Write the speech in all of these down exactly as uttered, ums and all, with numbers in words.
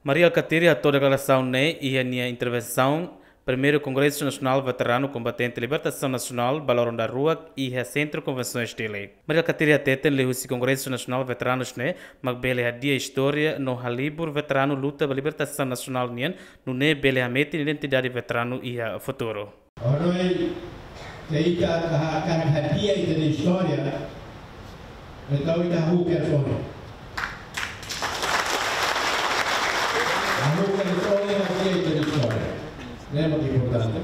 Mari Alkatiri hato'o deklarasaun ne'e iha nia intervensaun Primeiru Kongresu Nasionál Veteranu Kombatente Libertasaun Nasionál ba loron daruak iha Sentru Konvensoens Dili. Mari Alkatiri hateten liuhusi Kongresu Nasionál Veteranus ne'e mak bele hadi'a istória no halibur veteranu luta ba libertasaun nasionál nian, nune'e bele hametin identidade veteranu iha futuru. Ohin, se ita hakarak hadi'a ita-nia istória, entaun ita hahú kedas ona. Hahú kedas ona hadi'a ita-nia istória. Ne'e mak importante.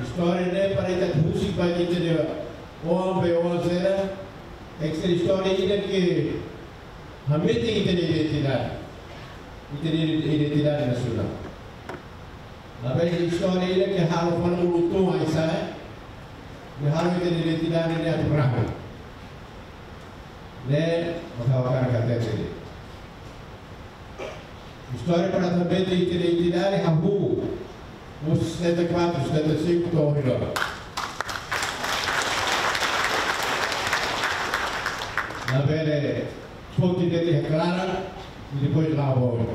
Istória ne'e para ita husik ba ita-nia oan be oan sira, ita-nia istória ida ke hametin ita-nia identidade. Ita-nia identidade nasionál. Maibé istória ida ke halo fali uluk tun ai-sa'e, ke halo ita-nia identidade ne'e atu rahu. Ne'e mak ha'u hakarak hatete. Istória para hametin ita-nia identidade hahú husi setenta e quatro, setenta e cinco to'o ohin loron. Labele foti de'it iha klaran, i depois la'o ba oin.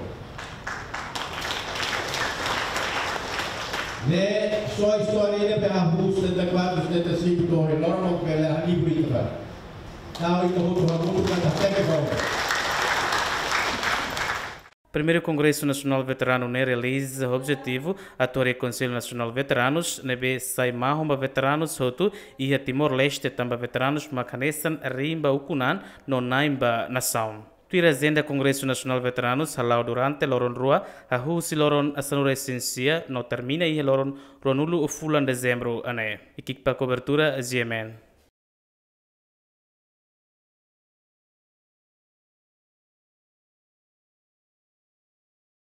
Ne'e só istória ida be hahú setenta e quatro, setenta e cinco to'o ohin loron mak bele halibur ita ba. Tau ita hotu hamutuk atu hateke ba oin. Primeiru Kongresu Nasionál Veteranu ne'e realiza objetivu atu harii Konsellu Nasionál Veteranus ne'ebé sai mahon ba veteranus hotu iha Timor-Leste, tanba veteranus mak hanesan riin ba ukun-an no na'in ba nasaun. Tuir ajenda, Kongresu Nasionál Veteranus hala'o durante loron rua, hahú husi loron sanulu-resin-sia no termina iha loron ruanulu fulan Dezembru ne'e. Ekipa kobertura, G M N.